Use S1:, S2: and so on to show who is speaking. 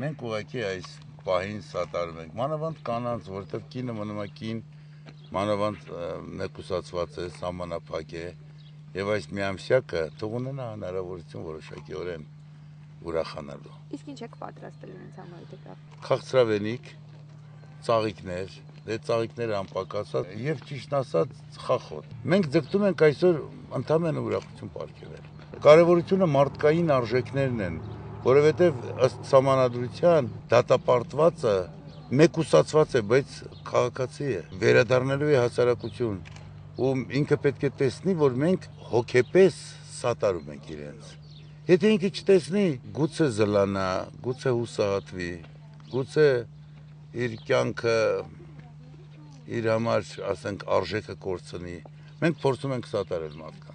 S1: Մենք ուղղակի այս պահին սատարում ենք, մանավանդ կանանց, որովհետև կինը մնում է կին, մանավանդ մեկուսացված է, սահմանափակ է, եւ այս միամսյակը թող ունենա հնարավորություն որոշակիորեն ուրախանալու։
S2: Իսկ ինչ եք պատրաստել իրենց համար դեպի։
S1: Քաղցրավենիք, ծաղիկներ, դե ծաղիկները անպակասած եւ ճիշտ ասած խախոտ։ Մենք ձգտում ենք այսօր ընդհանրապես ուրախություն ապարգևել։ Կարևորությունը մարդկային արժեքներն են, որովհետեւ ըստ համանadrության դատապարտվածը մեկուսացված է, բայց քաղաքացի է, վերադառնալու է հասարակություն, ու ինքը պետք է տեսնի, որ մենք հոգեպես սատարում ենք իրենց։ Եթե ինքը չտեսնի, գուցե զլանա, գուցե հուսահատվի, գուցե իր կյանքը իր համար, ասենք, արժեքը կորցնի։ Մենք փորձում ենք սատարել մարդկանց։